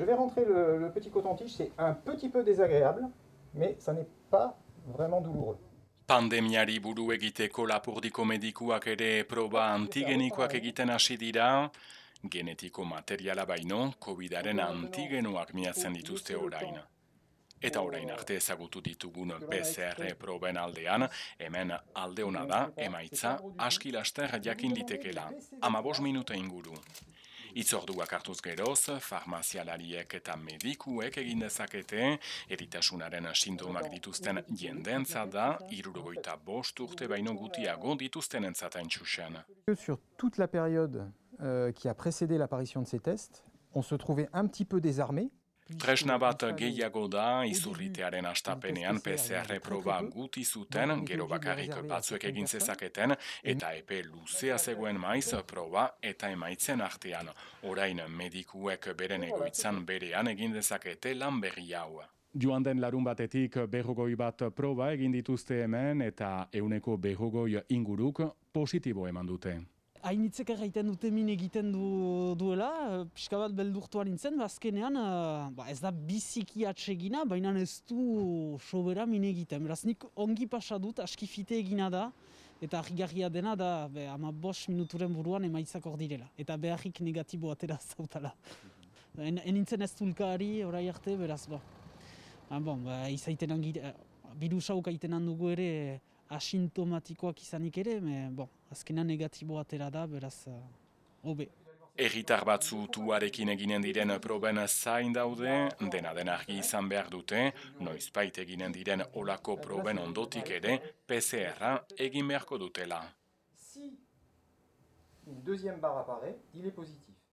Je vais rentrer le petit coton-tige, c'est un petit peu désagréable, mais ça n'est pas vraiment douloureux. Pandemiari buru egiteko Lapurdiko medikuak ere proba antigenikoak egiten hasi dira, genetiko materiala baino, COVIDaren antigenoak miatzen dituzte orain. Eta orain arte ezagutu ditugun PCR proben aldean, hemen alde hona da, emaitza aski laster jakin litekela, 15 minutu inguru. Itzorduak hartuz geroz, farmazialariek eta medikuek egin dezakete, eritasunaren sintomak dituzten jendentza da, 65 urte baino gutiago dituzten entzatain txusen. Sur toute la période qui a précédé l'apparition de ces tests, on se trouvait un petit peu désarmé. Tresna bat gehiago da, izurritearen astapenean PCR proba guti zuten, gero bakarrik batzuek egin zezaketen, eta epe luzea zegoen maiz proba eta emaitzen artean. Orain medikuek beren egoitzan berean egin dezakete lan berri hau. Joan den larun batetik 50 bat proba egin dituzte hemen eta 150 inguruk positibo eman dute. Hainitzek egiten dute min egiten duela, pixka bat beldurtuan nintzen, azkenean ez da biziki atsegina, baina ez du sobera min egiten. Beraz nik ongi pasa dut, askifite egina da, eta argigarria dena da 15 minuturen buruan emaitzak hor direla. Eta beharrik negatibo atera zautala. Enintzen ez tulkari, orai arte, beraz izaiten birusauk aitenan dugu ere, asintomatikoak izanik ere, azkenan negatibo atera da, beraz, hobe. Erritar batzu tuarekin eginen diren proben zain daude, dena den argi izan behar dute, noizbait eginen diren olako proben ondotik ere, PCR-a egin beharko dutela. Si une deuxième barre apparaît, il est positif.